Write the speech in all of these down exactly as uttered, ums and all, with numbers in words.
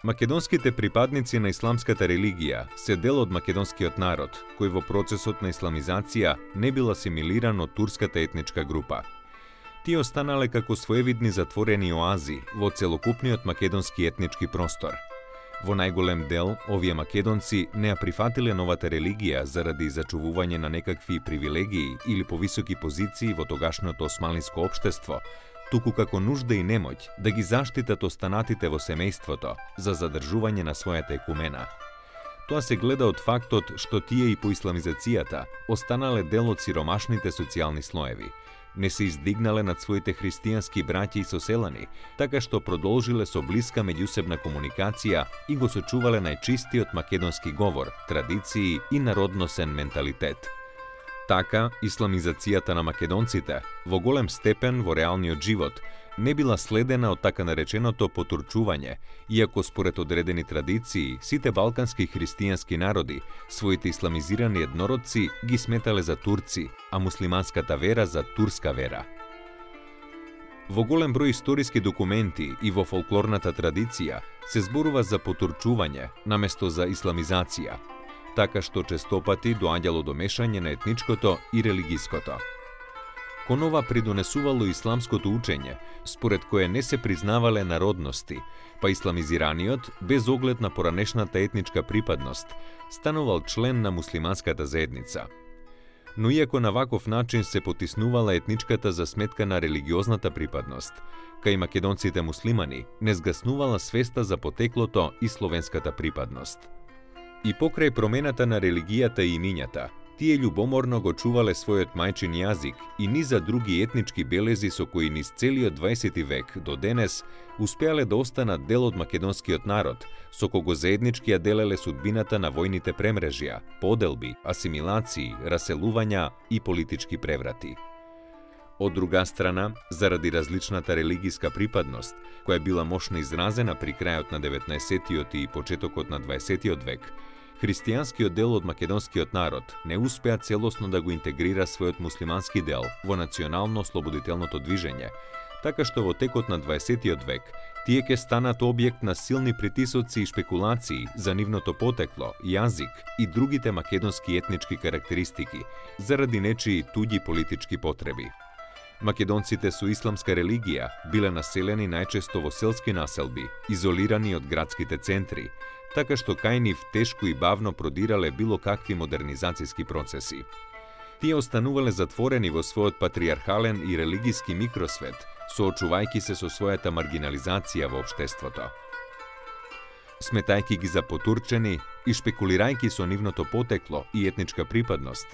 Македонските припадници на исламската религија се дел од македонскиот народ, кој во процесот на исламизација не бил асимилиран од турската етничка група. Тие останале како своевидни затворени оази во целокупниот македонски етнички простор. Во најголем дел, овие македонци не ја прифатиле новата религија заради зачувување на некакви привилегии или повисоки позиции во тогашното османлиско општество, туку како нужда и немоќ да ги заштитат останатите во семејството за задржување на својата екумена. Тоа се гледа од фактот што тие и по исламизацијата останале дел од сиромашните социјални слоеви, не се издигнале над своите христијански браќи и соселани, така што продолжиле со блиска меѓусебна комуникација и го сочувале најчистиот македонски говор, традиции и народносен менталитет. Така, исламизацијата на македонците во голем степен во реалниот живот не била следена од така нареченото потурчување, иако според одредени традиции, сите балкански христијански народи, своите исламизирани еднородци ги сметале за турци, а муслиманската вера за турска вера. Во голем број историски документи и во фолклорната традиција се зборува за потурчување наместо за исламизација, така што честопати доаѓало до мешање на етничкото и религиското. Кон ова придонесувало исламското учење, според кое не се признавале народности, па исламизираниот, без оглед на поранешната етничка припадност, станувал член на муслиманската заедница. Но иако на ваков начин се потиснувала етничката за сметка на религиозната припадност, кај македонците муслимани не згаснувала свеста за потеклото и словенската припадност. И покрај промената на религијата и имињата, тие љубоморно го чувале својот мајчин јазик и низа други етнички белези со кои низ целиот дваесети век до денес успеале да останат дел од македонскиот народ, со кого заеднички ја делеле судбината на војните премрежја, поделби, асимилации, раселувања и политички преврати. Од друга страна, заради различната религиска припадност, која била мощно изразена при крајот на деветнаесеттиот и почетокот на дваесеттиот век, христијанскиот дел од македонскиот народ не успеа целосно да го интегрира својот муслимански дел во национално-ослободителното движење, така што во текот на дваесеттиот век тие ќе станат објект на силни притисоци и шпекулации за нивното потекло, јазик и другите македонски етнички карактеристики, заради нечии туѓи политички потреби. Македонците со исламска религија биле населени најчесто во селски населби, изолирани од градските центри, така што кај нив тешко и бавно продирале било какви модернизацијски процеси. Тие останувале затворени во својот патриархален и религиски микросвет, соочувајќи се со својата маргинализација во општеството. Сметајќи ги за потурчени и шпекулирајќи со нивното потекло и етничка припадност,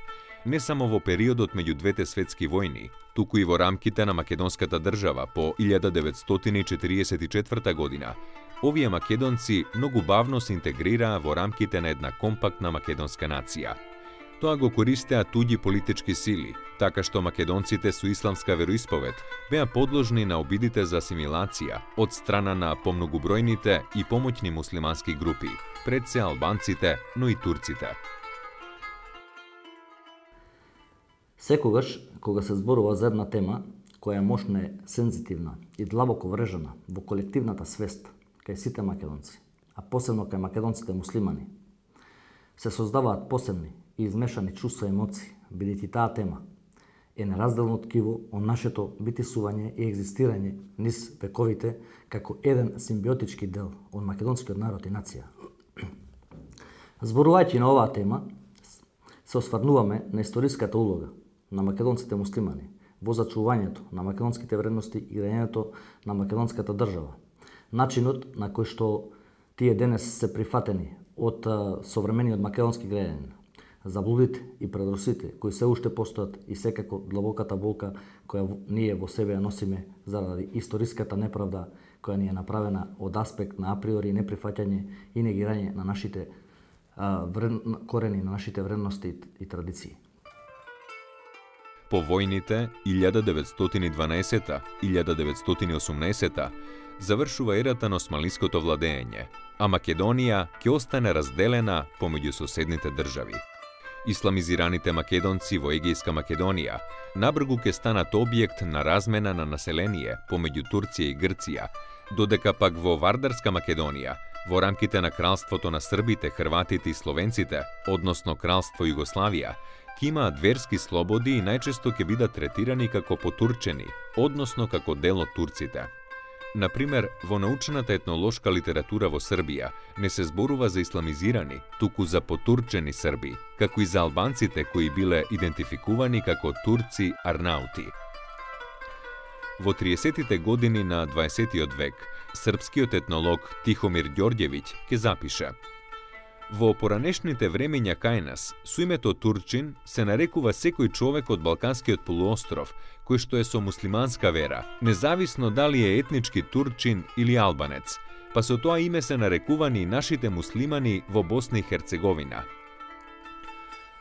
не само во периодот меѓу двете светски војни, туку и во рамките на македонската држава по илјада деветстотини четириесет и четврта година, овие македонци многу бавно се интегрираа во рамките на една компактна македонска нација. Тоа го користеа туѓи политички сили, така што македонците со исламска вероисповед беа подложни на обидите за асимилација од страна на помногубројните и помоќни муслимански групи, пред се албанците, но и турците. Секогаш, кога се зборува за една тема која мощно е сензитивна и длабоко врежана во колективната свест кај сите македонци, а посебно кај македонците муслимани, се создаваат посебни и измешани чувства и емоции, бидејќи таа тема е неразделно ткиво од нашето битисување и екзистирање низ вековите како еден симбиотички дел од македонскиот народ и нација. Зборувајќи на оваа тема, се осврнуваме на историската улога на македонците муслимани во зачувањето на македонските вредности и граѓањето на македонската држава, начинот на кој што тие денес се прифатени од современиот македонски граѓанин, заблудите и предросите кои се уште постојат и секако длабоката болка која ние во себе ја носиме заради историската неправда која ни е направена од аспект на априори неприфаќање и негирање на нашите а, вред... корени, на нашите вредности и традиции. По војните илјада деветстотини дванаесета - илјада деветстотини осумнаесета завршува ерата на османлиското владење, а Македонија ќе остане разделена помеѓу соседните држави. Исламизираните македонци во Егејска Македонија набргу ќе станат објект на размена на население помеѓу Турција и Грција, додека пак во Вардарска Македонија Во рамките на кралството на србите, хрватите и словенците, односно кралство Југославија, ќе имаат верски слободи и најчесто ќе бидат третирани како потурчени, односно како дел од турците. Например, во научната етнолошка литература во Србија не се зборува за исламизирани, туку за потурчени срби, како и за албанците кои биле идентификувани како турци арнаути. Во триесеттите години на дваесеттиот век, српскиот етнолог Тихомир Ѓорѓевиќ ќе запише: Во поранешните времења кај нас, со името Турчин се нарекува секој човек од Балканскиот полуостров, кој што е со муслиманска вера, независно дали е етнички турчин или албанец, па со тоа име се нарекувани и нашите муслимани во Босна и Херцеговина.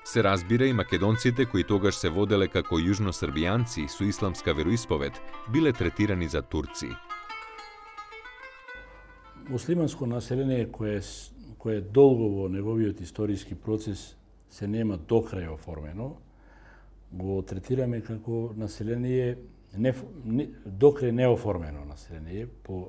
Се разбира и македонците кои тогаш се воделе како јужносрбијанци со исламска вероисповед, биле третирани за турци. Муслиманско население кое кое долго во неговиот историски процес се нема докрај оформено, го третираме како население не, не, докрај неоформено население по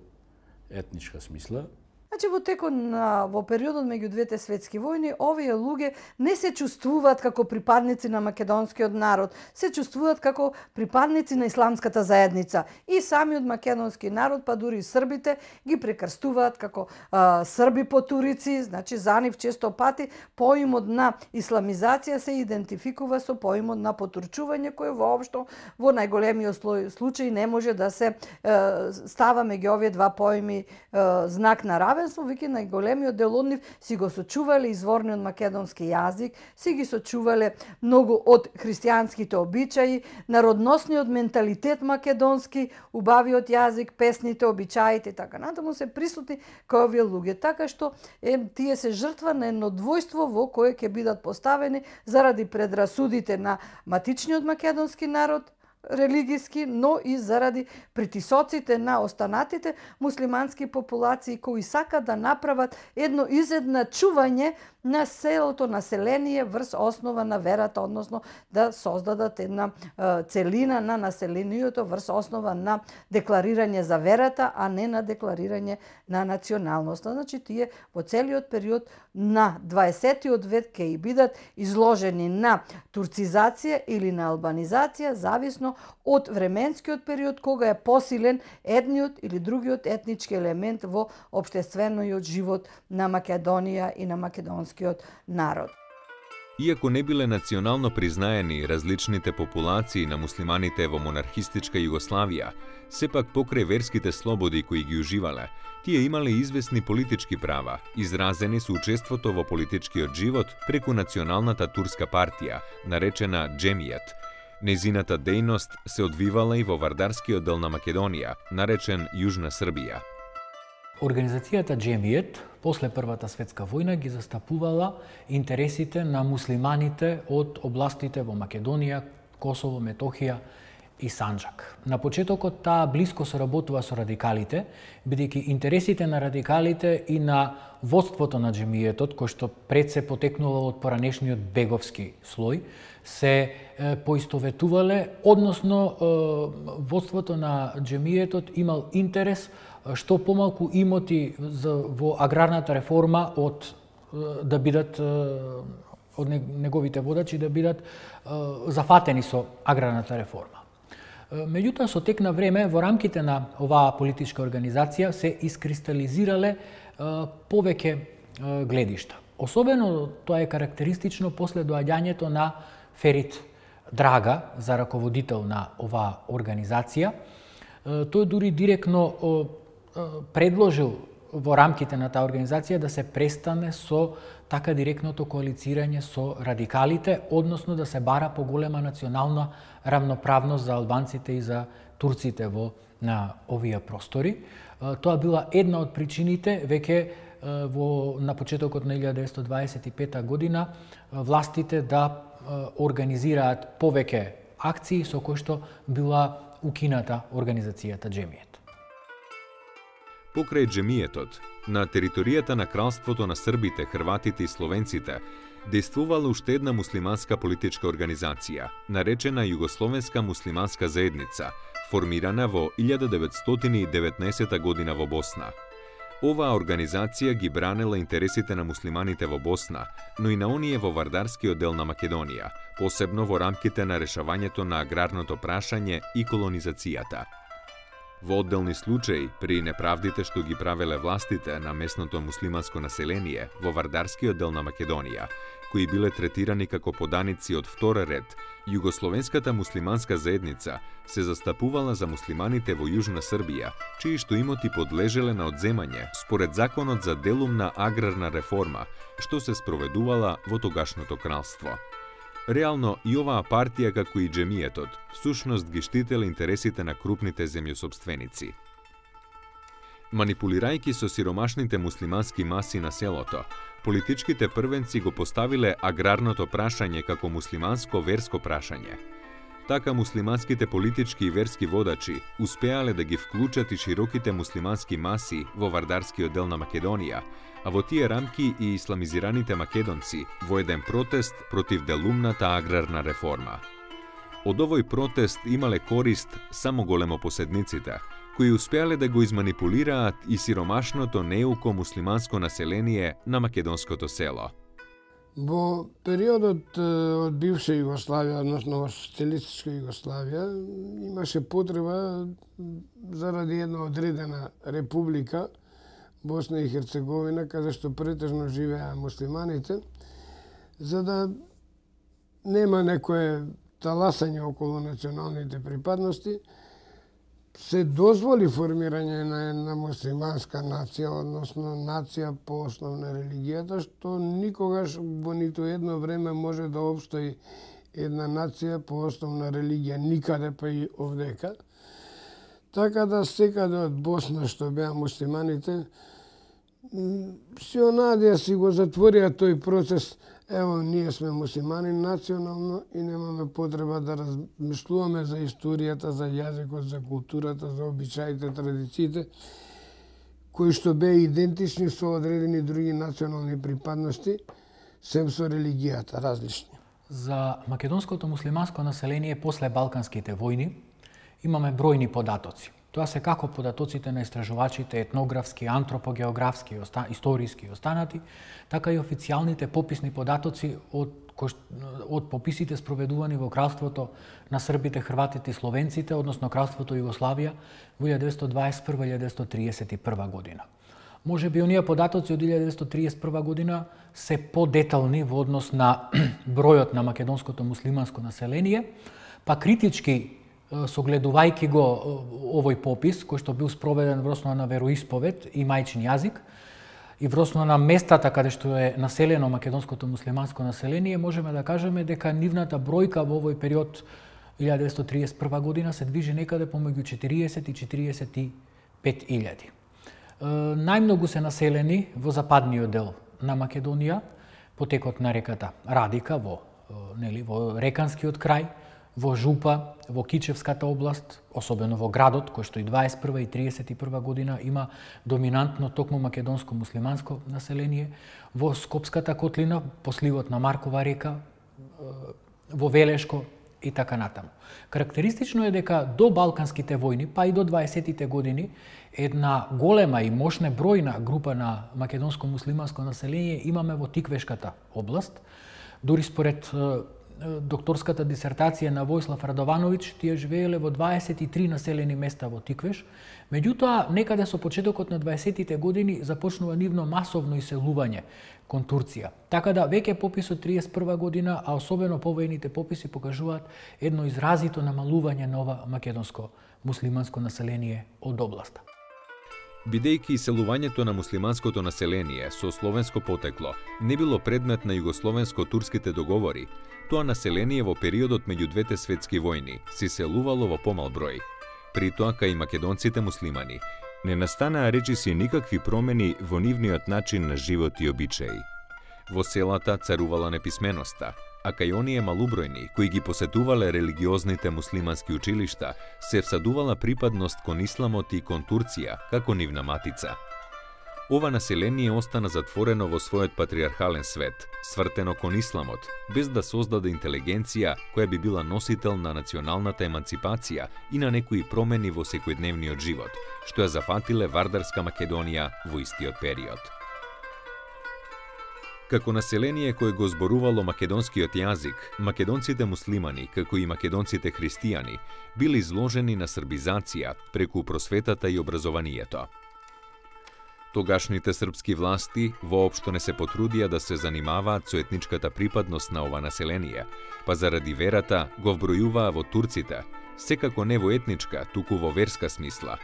етничка смисла. Значи, во текот на во периодот меѓу двете светски војни, овие луѓе не се чувствуваат како припадници на македонскиот народ, се чувствуваат како припадници на исламската заедница. И самиот македонски народ, па дури и србите, ги прекрстуваат како а, срби потурици, значи за нив често пати поимот на исламизација се идентификува со поимот на потурчување, кој воопшто во најголемиот случај не може да се е, става меѓу овие два поими е, знак на равенство, веќе најголемиот дел од нив си го сочувале изворниот македонски јазик, си ги сочувале многу од христијанските обичаи, народносниот менталитет македонски, убавиот јазик, песните, обичаите и така натаму се присутни кај овие луѓе, така што е, тие се жртва на едно двојство во кое ќе бидат поставени заради предрасудите на матичниот македонски народ, религиски, но и заради притисоците на останатите муслимански популации кои сакат да направат едно изедначување на селото население врз основа на верата, односно да создадат една е, целина на населението врз основа на декларирање за верата, а не на декларирање на националноста. Значи, тие во целиот период на дваесеттиот век ќе и бидат изложени на турцизација или на албанизација, зависно од временскиот период кога е посилен едниот или другиот етнички елемент во општествениот живот на Македонија и на македонскиот народ. Иако не биле национално признаени различните популации на муслиманите во монархистичка Југославија, сепак покрај верските слободи кои ги уживале, тие имале известни политички права, изразени со учеството во политичкиот живот преку националната турска партија, наречена Джемијет. Незината дејност се одвивала и во вардарскиот дел на Македонија, наречен Јужна Србија. Организацијата Джемијет после Првата светска војна ги застапувала интересите на муслиманите од областите во Македонија, Косово, Метохија и Санџак. На почетокот таа блиско соработува со радикалите, бидејќи интересите на радикалите и на водството на Джемијетот, кој што пред се потекнува од поранешниот беговски слој, се е, поистоветувале, односно е, водството на Джемијетот имал интерес што помалку имоти за, во аграрната реформа од е, да бидат е, од неговите водачи да бидат е, зафатени со аграрната реформа. Меѓутоа, со тек на време, во рамките на оваа политичка организација се искристализирале е, повеќе е, гледишта. Особено тоа е карактеристично после доаѓањето на Ферит Драга за раководител на оваа организација. Тој дури директно предложил во рамките на таа организација да се престане со така директното коалицирање со радикалите, односно да се бара поголема национална рамноправност за албанците и за турците во на овие простори. Тоа била една од причините веќе во на почетокот на илјада деветстотини дваесет и пета година властите да организираат повеќе акции со кои што била укината организацијата Джемијет. Покрај Джемијетот, на територијата на кралството на србите, хрватите и словенците, действувала уште една муслиманска политичка организација, наречена Југословенска муслиманска заедница, формирана во илјада деветстотини и деветнаесета година во Босна. Оваа организација ги бранела интересите на муслиманите во Босна, но и на оние во вардарскиот дел на Македонија, посебно во рамките на решавањето на аграрното прашање и колонизацијата. Во одделни случаи, при неправдите што ги правеле властите на местното муслиманско население во вардарскиот дел на Македонија, кои биле третирани како поданици од втора ред, југословенската муслиманска заедница се застапувала за муслиманите во Јужна Србија, чии што имоти подлежеле на одземање според законот за делумна аграрна реформа, што се спроведувала во тогашното кралство. Реално и оваа партија, како и џемијетот, всушност ги штителе интересите на крупните земјосопственици. Манипулирајќи со сиромашните муслимански маси на селото, политичките првенци го поставиле аграрното прашање како муслиманско верско прашање. Така муслиманските политички и верски водачи успеале да ги вклучат и широките муслимански маси во вардарскиот дел на Македонија, а во тие рамки и исламизираните македонци во еден протест против делумната аграрна реформа. Од овој протест имале корист само големопоседниците, кои успеале да го изманипулираат и сиромашното неуко муслиманско население на македонското село. Во периодот од бивша Југославија, односно во социјалистичка Југославија, имаше потреба заради една одредена република, Босна и Херцеговина, каде што претежно живеа муслиманите, за да нема некое таласање околу националните припадности, се дозволи формирање на една муслиманска нација, односно нација по основ на религијата, што никогаш во ниту едно време може да опстои една нација по основ на религија, никаде па и овдека. Така да секаде од Босна што беа муслиманите, си онадија си го затворија тој процес. Ево, ние сме муслимани национално и немаме потреба да размислуваме за историјата, за јазикот, за културата, за обичаите, традициите, кои што беа идентични со одредени други национални припадности, сем со религијата, различни. За македонското муслиманско население после Балканските војни имаме бројни податоци. Тоа се како податоците на истражувачите етнографски, антропогеографски, историски и останати, така и официјалните пописни податоци од, од пописите спроведувани во кралството на србите, хрватите и словенците, односно кралството Југославија во илјадесет деветстотини дваесет и прва до илјадесет деветстотини триесет и прва година. Може би оние податоци од илјадесет деветстотини триесет и прва година се подетални во однос на бројот на македонското муслиманско население, па критички согледувајќи го овој попис, кој што бил спроведен во основа на вероисповед и мајчин јазик, и во основа на местата каде што е населено македонското муслиманско население, можеме да кажеме дека нивната бројка во овој период илјадесет деветстотини триесет и прва година се движи некаде помеѓу четириесет и четириесет и пет илјади. Најмногу се населени во западниот дел на Македонија, потекот на реката Радика, во, нели, во Реканскиот крај, во Жупа, во Кичевската област, особено во градот, кој што и дваесет и прва и триесет и прва година има доминантно токму македонско-муслиманско население, во Скопската котлина, по сливот на Маркова река, во Велешко и така натаму. Карактеристично е дека до Балканските војни, па и до дваесетите години, една голема и мощна бројна група на македонско-муслиманско население имаме во Тиквешката област. Дури според докторската дисертација на Војслав Радовановиќ, тие живееле во дваесет и три населени места во Тиквеш. Меѓутоа, некаде со почетокот на дваесетите години започнува нивно масовно иселување кон Турција. Така да веќе пописот триесет и прва година, а особено повојните пописи покажуваат едно изразито намалување на ова македонско муслиманско население од областа. Бидејќи иселувањето на муслиманското население со словенско потекло не било предмет на југословенско-турските договори, тоа население во периодот меѓу двете светски војни се иселувало во помал број. При тоа кај македонците муслимани не настанаа речиси никакви промени во нивниот начин на живот и обичаи. Во селата царувала неписменоста, а кај оние малубројни кои ги посетувале религиозните муслимански училишта, се всадувала припадност кон исламот и кон Турција како нивна матица. ова население остана затворено во својот патриархален свет, свртено кон исламот, без да создаде интелигенција која би била носител на националната еманципација и на некои промени во секојдневниот живот, што ја зафатиле Вардарска Македонија во истиот период. Како население кое го зборувало македонскиот јазик, македонците муслимани, како и македонците христијани, биле изложени на србизација преку просветата и образованието. Тогашните српски власти воопшто не се потрудија да се занимаваат со етничката припадност на ова население, па заради верата го вбројуваа во турците, секако не во етничка, туку во верска смисла.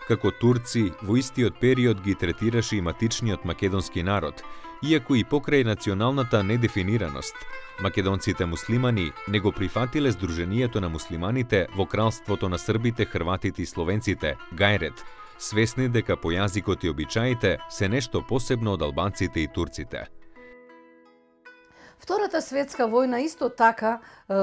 Како турци, во истиот период ги третираше и матичниот македонски народ, иако и покрај националната недефинираност, македонците муслимани не го прифатиле Сдруженијето на муслиманите во кралството на србите, хрватите и словенците, Гајрет, свесни дека по јазикот и обичаите се нешто посебно од албанците и турците. Втората светска војна исто така е,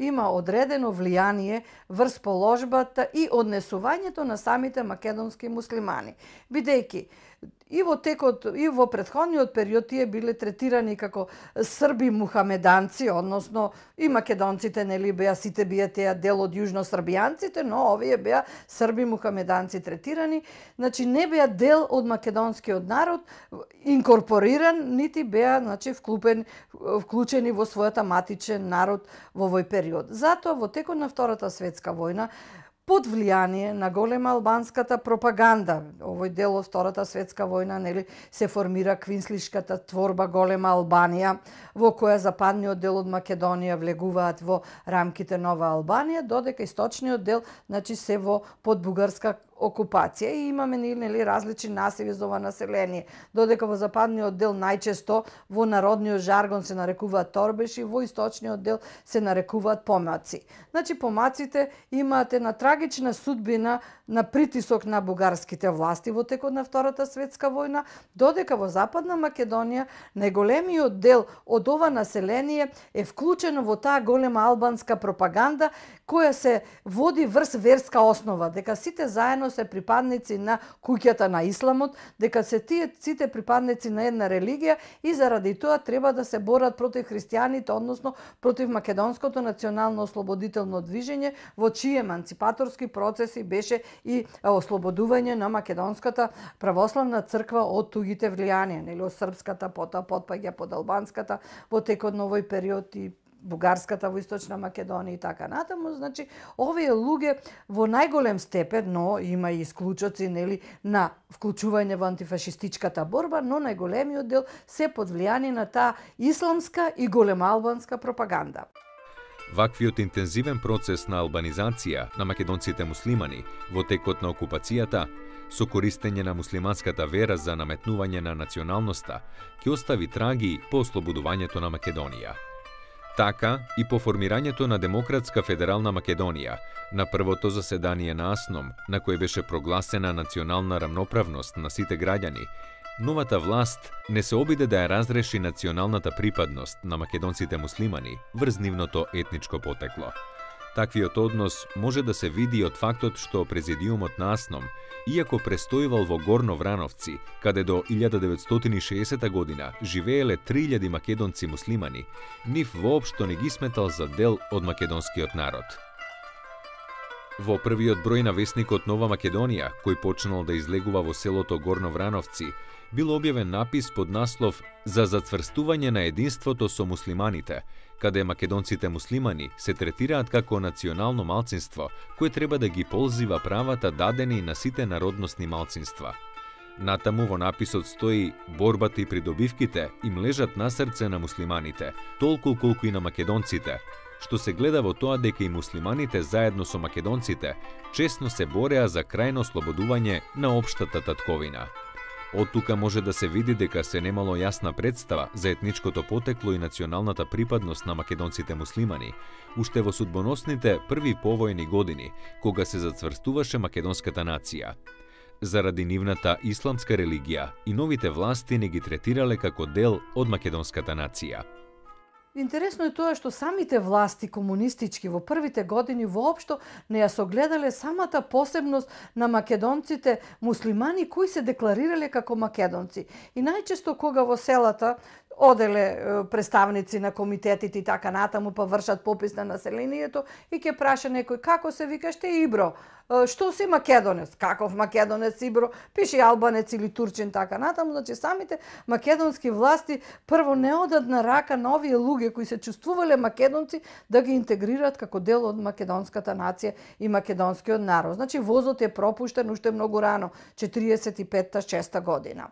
има одредено влијание врз положбата и однесувањето на самите македонски муслимани, бидејќи и во текот и во претходниот период тие биле третирани како срби мухамеданци, односно и македонците нели беа сите беа теа дел од јужносрбијанците, но овие беа срби мухамеданци третирани, значи не беа дел од македонскиот народ, инкорпориран, нити беа значи вклупен вклучени во својата матичен народ во овој период. Затоа во текот на Втората светска војна, под влијание на голема албанската пропаганда, овој дел од Втората светска војна, нели, се формира квинслишката творба Голема Албанија, во која западниот дел од Македонија влегуваат во рамките Нова Албанија, додека источниот дел, значи, се во под бугарска окупација и имаме нели различни насиви за ова население. Додека во западниот дел најчесто во народниот жаргон се нарекуваат торбеши, во источниот дел се нарекуваат помаци. Значи помаците имаат една трагична судбина на притисок на бугарските власти во текот на Втората светска војна, додека во Западна Македонија најголемиот дел од ова население е вклучено во таа голема албанска пропаганда која се води врз верска основа, дека сите заедно се припадници на куќата на исламот, дека се тие сите припадници на една религија и заради тоа треба да се борат против христијаните, односно против македонското национално ослободително движење, во чии еманципаторски процеси беше и ослободување на македонската православна црква од тугите влијанија, нели од српската, потоа потпаѓа под албанската во текот на овој период и бугарската во Источна Македонија и така натаму. Значи, овие луѓе во најголем степен, но има и исклучоци, нели, на вклучување во антифашистичката борба, но најголемиот дел се под влијание на таа исламска и големоалбанска пропаганда. Ваквиот интензивен процес на албанизација на македонците муслимани во текот на окупацијата, со користење на муслиманската вера за наметнување на националноста, ќе остави траги по ослободувањето на Македонија. Така и по формирањето на Демократска федерална Македонија, на првото заседание на АСНОМ, на кој беше прогласена национална рамноправност на сите граѓани, новата власт не се обиде да ја разреши националната припадност на македонците муслимани врз нивното етничко потекло. Таквиот однос може да се види од фактот што президиумот на АСНОМ, иако престојувал во Горно Врановци, каде до илјада деветстотини и шеесета година живееле три илјади македонци муслимани, нив воопшто не ги сметал за дел од македонскиот народ. Во првиот број на весникот Нова Македонија, кој почнал да излегува во селото Горно Врановци, бил објавен напис под наслов «За зацврстување на единството со муслиманите», каде македонците муслимани се третираат како национално малцинство, кое треба да ги ползива правата дадени на сите народностни малцинства. Натаму во написот стои «Борбата и придобивките им лежат на срце на муслиманите, толку колку и на македонците», што се гледа во тоа дека и муслиманите заедно со македонците честно се бореа за крајно ослободување на општата татковина. Од тука може да се види дека се немало јасна представа за етничкото потекло и националната припадност на македонците муслимани, уште во судбоносните први повојни години, кога се зацврстуваше македонската нација. Заради нивната исламска религија и новите власти не ги третирале како дел од македонската нација. Интересно е тоа што самите власти комунистички во првите години воопшто не ја согледале самата посебност на македонците муслимани кои се декларирале како македонци. И најчесто кога во селата оделе представници на комитетите и така натаму, па вршат попис на населението и ќе праша некој како се викаш те Ибро, што си македонец, каков македонец Ибро, пише албанец или турчин така натаму, значи самите македонски власти прво не одат на рака на овие луѓе кои се чувствувале македонци да ги интегрираат како дел од македонската нација и македонскиот народ. Значи возот е пропуштен уште многу рано, четириесет и петта шеста година.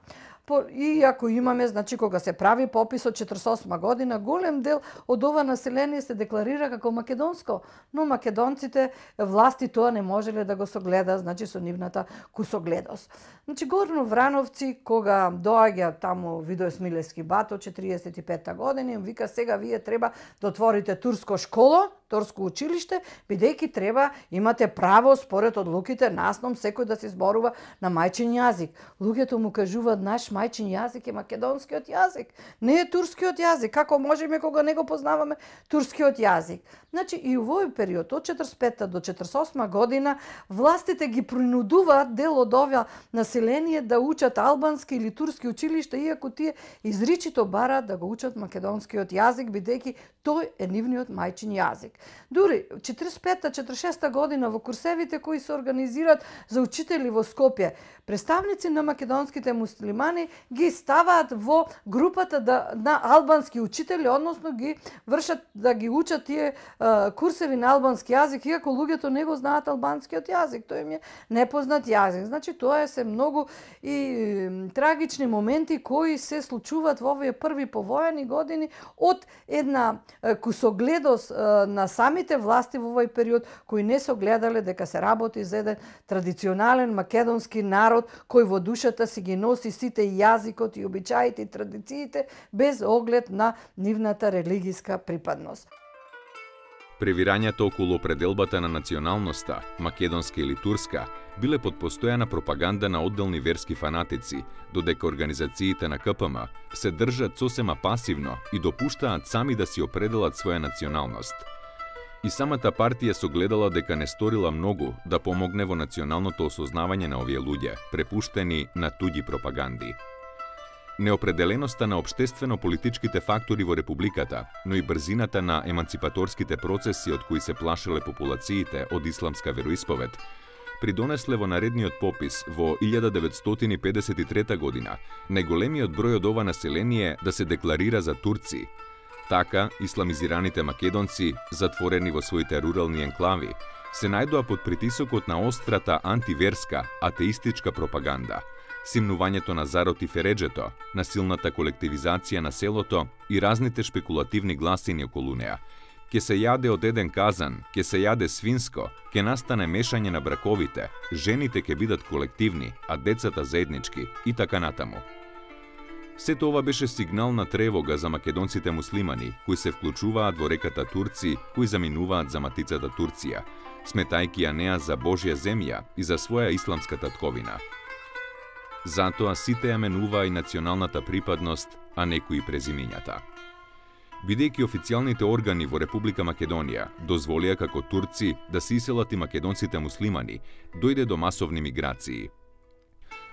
И ако имаме, значи кога се прави попис од четиридесет и осма година, голем дел од ова население се декларира како македонско, но македонците власти тоа не можеле да го согледа, значи со нивната кусогледост. Значи Горно Врановци кога доаѓа таму Видој Смилевски бато четириесет и петта година, им вика сега вие треба да отворите турско школо, турско училиште, бидејќи треба имате право според одлуките насном секој да се зборува на мајчин јазик. Луѓето му кажуваат наш мајчин јазик е македонскиот јазик, не е турскиот јазик. Како можеме кога не го познаваме турскиот јазик? Значи и овој период од четиридесет и петта до четиридесет и осма година властите ги принудуваат дел од ова население да учат албански или турски училишта, иако тие изричито бараат да го учат македонскиот јазик, бидејќи тој е нивниот мајчин јазик. Дури четириесет и петта четириесет и шеста година во курсевите кои се организираат за учители во Скопје, представници на македонските муслимани ги ставаат во групата да, на албански учители, односно ги вршат да ги учат тие а, курсеви на албански јазик, иако луѓето не го знаат албанскиот јазик, тој им е непознат јазик. Значи тоа е се многу и трагични моменти кои се случуваат во овие први повојани години од една кусогледост на самите власти во овој период кои не согледале дека се работи за еден традиционален македонски народ кој во душата си ги носи сите јазикот и обичаите и традициите без оглед на нивната религиска припадност. Превирањата околу определбата на националноста, македонска или турска, биле под постојана пропаганда на одделни верски фанатици, додека организациите на К П М се држат сосема пасивно и допуштаат сами да си определат своја националност. И самата партија согледала дека не сторила многу да помогне во националното осознавање на овие луѓе, препуштени на туѓи пропаганди. Неопределеноста на општествено-политичките фактори во републиката, но и брзината на еманципаторските процеси од кои се плашеле популациите од исламска вероисповед, придонесле во наредниот попис во илјада деветстотини и педесет и трета година најголемиот број од ова население да се декларира за турци. Така, исламизираните македонци, затворени во своите рурални енклави, се најдоа под притисокот на острата антиверска, атеистичка пропаганда, симнувањето на зарот и фереџето, насилната колективизација на селото и разните шпекулативни гласини околу неа. Ке се јаде од еден казан, ке се јаде свинско, ке настане мешање на браковите, жените ке бидат колективни, а децата заеднички и така натаму. Сето ова беше сигнал на тревога за македонците муслимани, кои се вклучуваат во реката Турци, кои заминуваат за матицата Турција, сметајки ја неа за Божја земја и за своја исламска татковина. Затоа сите ја менува и националната припадност, а некои презимињата. Бидејќи официјалните органи во Република Македонија дозволија како турци да се иселат и македонците муслимани, дојде до масовни миграции.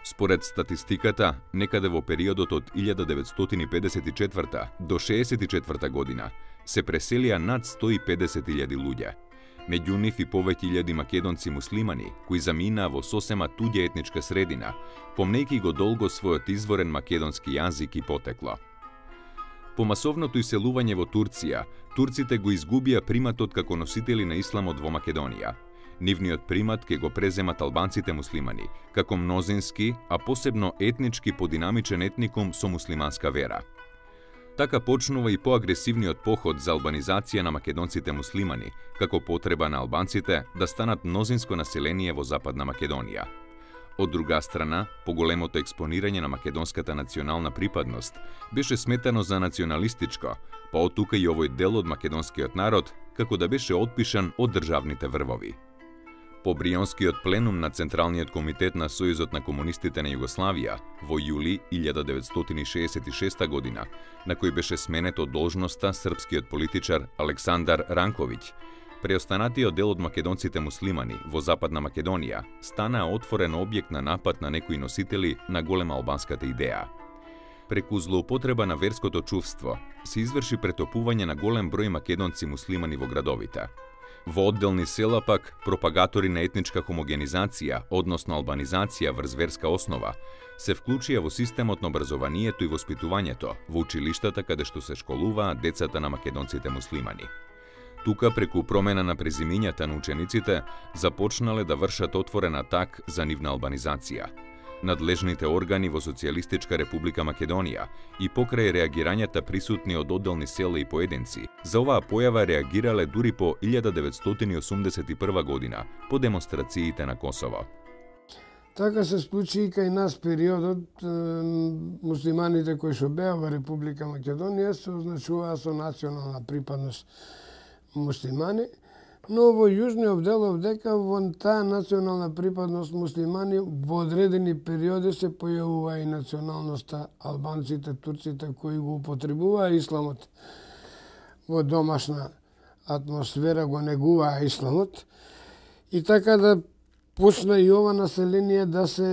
Според статистиката, некаде во периодот од илјада деветстотини педесет и четврта до шеесет и четврта година се преселија над сто и педесет илјади луѓе. Меѓу нив и повеќе илјади македонци муслимани, кои заминаа во сосема туѓа етничка средина, помнејќи го долго својот изворен македонски јазик и потекло. По масовното иселување во Турција, турците го изгубија приматот како носители на исламот во Македонија. Нивниот примат ке го преземат албанците муслимани, како мнозински, а посебно етнички подинамичен етникум со муслиманска вера. Така почнува и поагресивниот поход за албанизација на македонците муслимани, како потреба на албанците да станат мнозинско население во Западна Македонија. Од друга страна, поголемото експонирање на македонската национална припадност беше сметано за националистичко, па од тука и овој дел од македонскиот народ, како да беше отпишан од државните врвови. По Брионскиот пленум на Централниот комитет на Сојузот на комунистите на Југославија во јули илјада деветстотини шеесет и шеста година, на кој беше сменет од должноста српскиот политичар Александар Ранковиќ, преостанатиот дел од македонците муслимани во Западна Македонија стана отворен објект на напад на некои носители на голема албанската идеја. Преку злоупотреба на верското чувство се изврши претопување на голем број македонци муслимани во градовите. Во одделни села пак пропагатори на етничка хомогенизација, односно албанизација врз верска основа, се вклучија во системот на образованието и воспитувањето во училиштата каде што се школуваат децата на македонците муслимани. Тука, преку промена на презимињата на учениците, започнале да вршат отворен атак за нивна албанизација. Надлежните органи во Социјалистичка република Македонија и покрај реагирањата присутни од одделни села и поединци, за оваа појава реагирале дури по илјада деветстотини осумдесет и прва година по демонстрациите на Косово. Така се случи и кај нас периодот, муслиманите кои што беа во Република Македонија се означуваа со национална припадност муслимани, но во јужниот дел дека во таа национална припадност муслимани во одредени периоди се појавува и националноста албанците, турците кои го употребуваа исламот во домашна атмосфера, го негуваа исламот и така да почна и ова население да се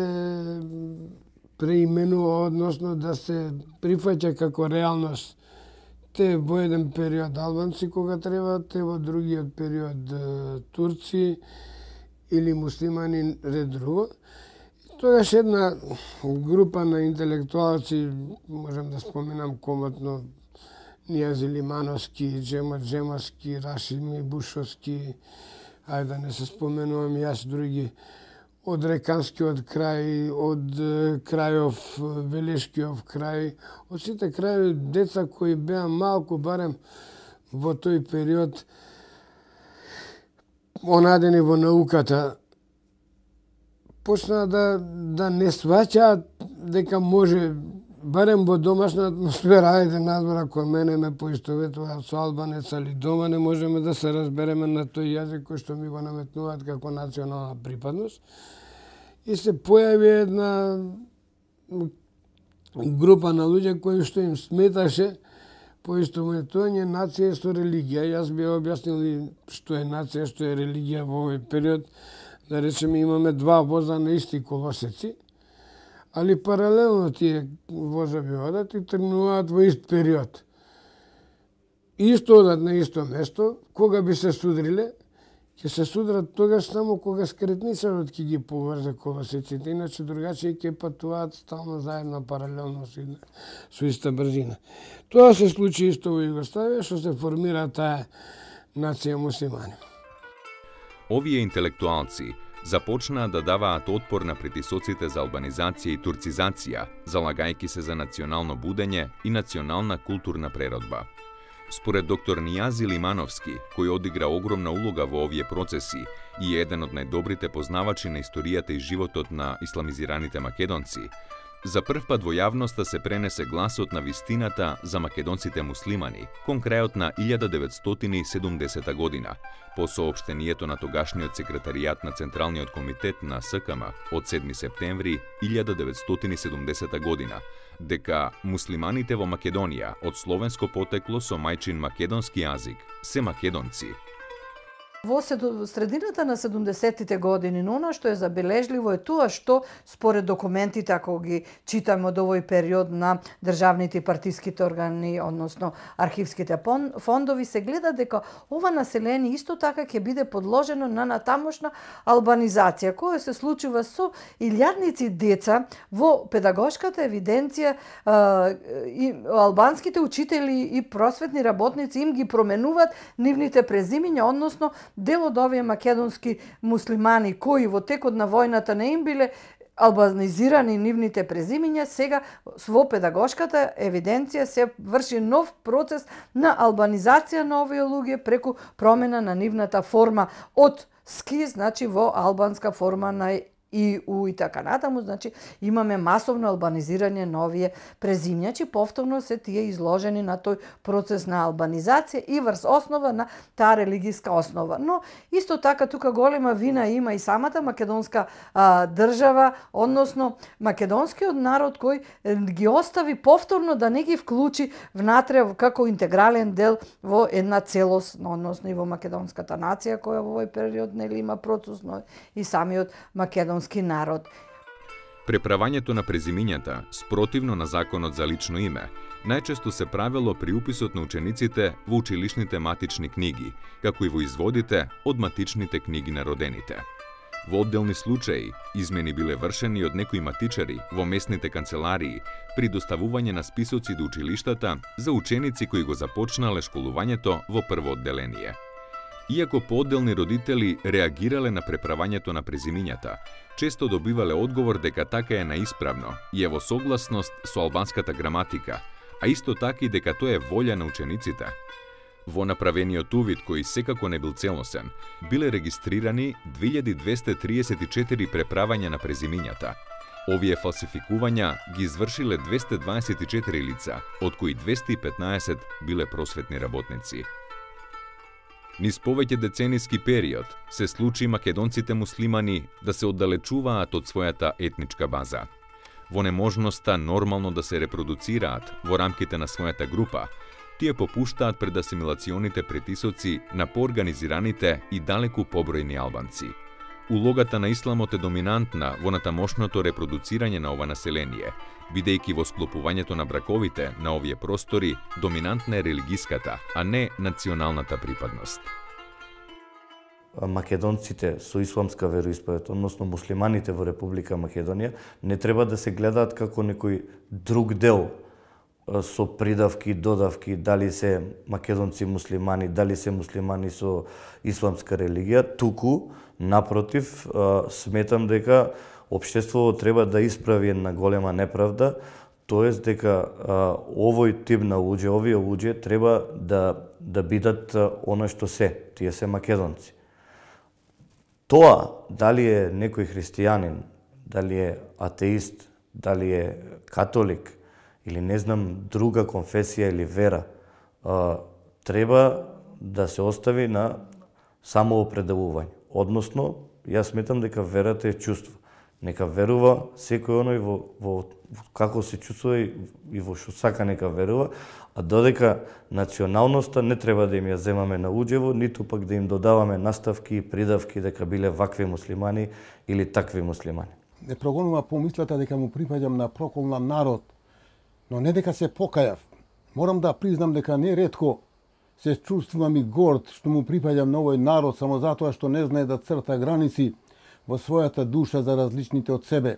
преименува, односно да се прифаќа како реалност. Те во еден период албанци кога треба, те во другиот период турци или муслимани ред друго. Тогаш една група на интелектуалци, можам да споменам комотно Нијази Лимановски, Джема Джемаски, Рашими Бушовски, ајде да не се споменувам јас други, од Реканскиот крај, од крајов, Велешкиов крај, од сите крајови деца кои беа малку барем во тој период онадени во науката, почнаа да, да не сваќаат дека може барем во домашна атмосфера, ајде надвор ако мене ме поистоветуваат со албанец, али дома не можеме да се разбереме на тој јазик кој што ми го наметнуваат како национална припадност. И се појави една група на луѓе кои што им сметаше поистоветување нација со религија. Јас би објаснил што е нација, што е религија во овој период. Да речеме имаме два воза на исти колосеци, али паралелно тие возови одат и тргнуваат во ист период. Исто одат на исто место, кога би се судриле, ќе се судрат тогаш само кога скретничарот ќе ги поврзе колосеците, иначе другачи ќе патуваат стално заедно паралелно со иста брзина. Тоа се случи исто во Југославија, што се формира таа нација муслимани. Овие интелектуалци започнаа да даваат отпор на притисоците за албанизација и турцизација, залагајќи се за национално будење и национална културна преродба. Според доктор Нијази Лимановски, кој одигра огромна улога во овие процеси и е еден од најдобрите познавачи на историјата и животот на исламизираните македонци, за прв пат во јавноста се пренесе гласот на вистината за македонците муслимани кон крајот на илјада деветстотини и седумдесета година, по соопштението на тогашниот секретаријат на Централниот комитет на С К М од седми септември илјада деветстотини и седумдесета година, дека муслиманите во Македонија од словенско потекло со мајчин македонски јазик се македонци. Во средината на седумдесеттите години, но она што е забележливо е тоа што според документите, ако ги читаме од овој период на државните и партиските органи, односно архивските фондови, се гледа дека ова население исто така ќе биде подложено на натамошна албанизација, која се случува со илјадници деца во педагошката евиденција. И албанските учители и просветни работници им ги променуваат нивните презимиња, односно дел од овие македонски муслимани кои во текот на војната не им биле албанизирани нивните презимиња, сега во педагошката евиденција се врши нов процес на албанизација на овие луѓе преку промена на нивната форма од ски, значи во албанска форма на и у и така натаму, значи имаме масовно албанизирање на овие презимњачи, повторно се тие изложени на тој процес на албанизација и врз основа на таа религијска основа. Но исто така тука голема вина има и самата македонска а, држава, односно македонскиот народ кој ги остави повторно да не ги вклучи внатре како интегрален дел во една целост, односно и во македонската нација која во овој период нели има процес, но и самиот македонски народ. Преправањето на презимињата, спротивно на законот за лично име, најчесто се правело при уписот на учениците во училишните матични книги, како и во изводите од матичните книги на родените. Во одделни случаи, измени биле вршени од некои матичари во местните канцеларии при доставување на списоци до училиштата за ученици кои го започнале школувањето во прво одделение. Иако поодделни родители реагирале на преправањето на презимињата, често добивале одговор дека така е наисправно и е во согласност со албанската граматика, а исто така и дека тоа е волја на учениците. Во направениот увид, кој секако не бил целосен, биле регистрирани две илјади двесте триесет и четири преправања на презимињата. Овие фалсификувања ги извршиле двесте дваесет и четири лица, од кои двесте и петнаесет биле просветни работници. Низ повеќе децениски период се случи македонците муслимани да се оддалечуваат од својата етничка база. Во неможноста нормално да се репродуцираат во рамките на својата група, тие попуштаат пред асимилационите притисоци на поорганизираните и далеку побројни албанци. Улогата на исламот е доминантна во натамошното репродуцирање на ова население, бидејќи во склопувањето на браковите на овие простори доминантна е религиската, а не националната припадност. Македонците со исламска вероисповед, односно муслиманите во Република Македонија, не треба да се гледаат како некој друг дел со придавки, додавки, дали се македонци муслимани, дали се муслимани со исламска религија, туку, напротив, сметам дека општеството треба да исправи една голема неправда, тоест дека овој тип на луѓе, овие луѓе треба да да бидат она што се, тие се македонци. Тоа, дали е некој христијанин, дали е атеист, дали е католик, или не знам друга конфесија или вера, треба да се остави на самоопределување. Односно, јас сметам дека верата е чувство. Нека верува секој оној во, во како се чувствува и, и во што сака нека верува, а додека националноста не треба да им ја земаме на уџево, ниту пак да им додаваме наставки и придавки дека биле вакви муслимани или такви муслимани. Не прогонува помислата дека му припаѓам на проколна народ, но не дека се покајав. Морам да признам дека не ретко се чувствувам и горд што му припаѓам на овој народ само затоа што не знае да црта граници во својата душа за различните од себе.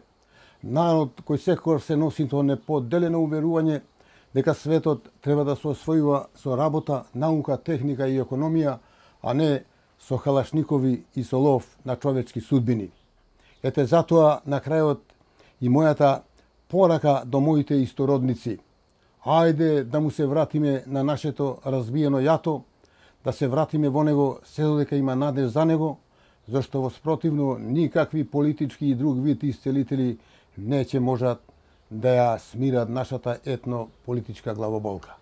Народ кој секогаш се носи тоа неподелено уверување дека светот треба да се освојува со работа, наука, техника и економија, а не со халашникови и со лов на човечки судбини. Ете затоа на крајот и мојата порака до моите истородници. Ајде да му се вратиме на нашето разбиено јато, да се вратиме во него се додека има надеж за него, зашто во спротивно никакви политички и друг вид исцелители не ќе можат да ја смират нашата етно-политичка главоболка.